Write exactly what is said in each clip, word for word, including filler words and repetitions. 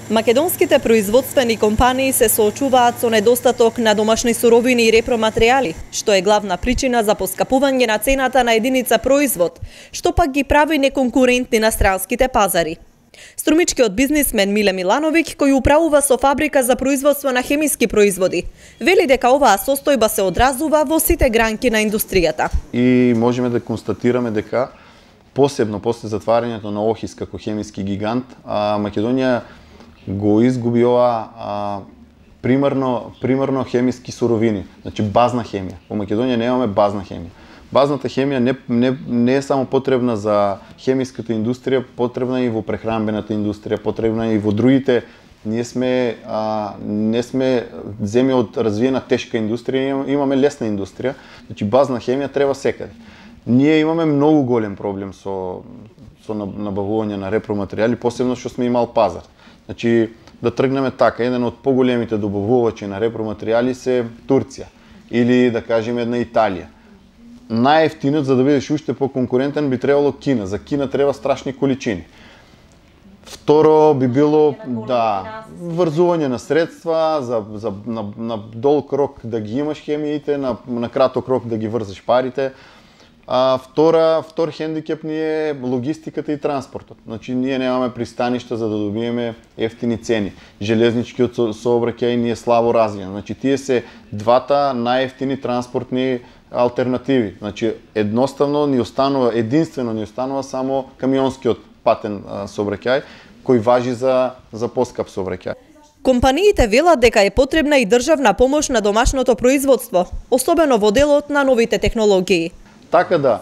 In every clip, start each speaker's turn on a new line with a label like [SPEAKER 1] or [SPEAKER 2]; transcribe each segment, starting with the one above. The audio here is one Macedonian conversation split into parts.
[SPEAKER 1] Македонските производствени компании се соочуваат со недостаток на домашни суровини и репроматеријали, што е главна причина за поскапување на цената на единица производ, што пак ги прави неконкурентни на странските пазари. Струмичкиот бизнисмен Миле Милановиќ, кој управува со фабрика за производство на хемиски производи, вели дека оваа состојба се одразува во сите гранки на индустријата.
[SPEAKER 2] И можеме да констатираме дека посебно после затварањето на Охис како хемиски гигант, а, Македонија го изгуби ова а, примерно, примерно хемиски суровини, значи базна хемија. Во Македонија немаме базна хемија. Базната хемија не, не, не е само потребна за хемиската индустрија, потребна и во прехранбената индустрија, потребна и во другите. Ние сме, а, не сме земја од развиена тешка индустрија, имаме лесна индустрија, значи базна хемија треба секаде. Ние имаме многу голем проблем со, со набавување на репроматеријали, посебно што сме имал пазар. Значи, да тргнеме така, еден од поголемите добавувачи на репроматеријали се Турција или да кажеме една Италија. Најефтинот за да бидеш уште по-конкурентен би требало Кина. За Кина треба страшни количини. Второ би било да врзување на средства за, за на, на долг рок да ги имаш хемиите, на, на краток рок да ги врзеш парите. А втора, втор хендикеп ни е логистиката и транспортот. Значи ние немаме пристаништа за да добиеме ефтини цени. Железничкиот сообраќај ни е слабо развиен. Значи тие се двата најефтини транспортни алтернативи. Значи едноставно ни останува, единствено ни останува само камионскиот патен сообраќај кој важи за за поскап сообраќај.
[SPEAKER 1] Компаниите велат дека е потребна и државна помош на домашното производство, особено во делот на новите технологии.
[SPEAKER 2] Така да,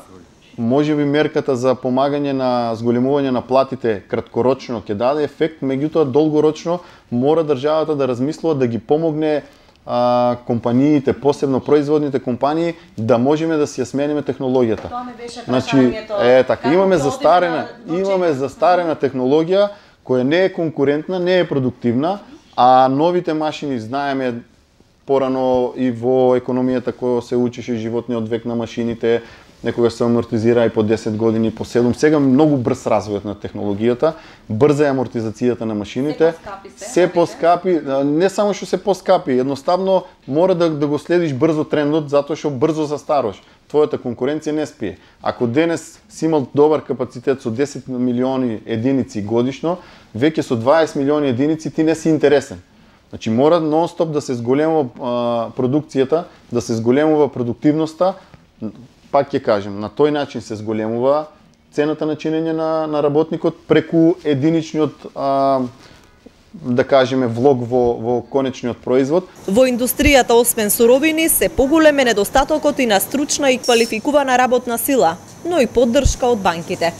[SPEAKER 2] може би мерката за помагање на зголемување на платите краткорочно ќе даде ефект, меѓутоа долгорочно мора државата да размислува да ги помогне а, компаниите, посебно производните компании, да можеме да си ја смениме технологијата.
[SPEAKER 3] Тоа ме беше
[SPEAKER 2] Значи,
[SPEAKER 3] прашањето.
[SPEAKER 2] е така, имаме застарена, имаме застарена технологија која не е конкурентна, не е продуктивна, а новите машини знаеме порано и во економијата која се учеше животниот век на машините, некогаш се амортизира и по десет години, по седум. Сега многу брз развојот на технологијата, брза е амортизацијата на машините, се поскапи, не само што се поскапи, едноставно мора да, да го следиш брзо трендот, затоа што брзо застаруваш. Твојата конкуренција не спие. Ако денес си имал добар капацитет со десет милиони единици годишно, веќе со дваесет милиони единици ти не си интересен. Значи мора нон-стоп да се зголемува а, продукцијата, да се зголемува продуктивноста. Пак ќе кажем, на тој начин се зголемува цената на чинење на, на работникот преку единичниот а, да кажеме влог во, во конечниот производ.
[SPEAKER 1] Во индустријата освен суровини се поголем е недостатокот и на стручна и квалификувана работна сила, но и поддршка од банките.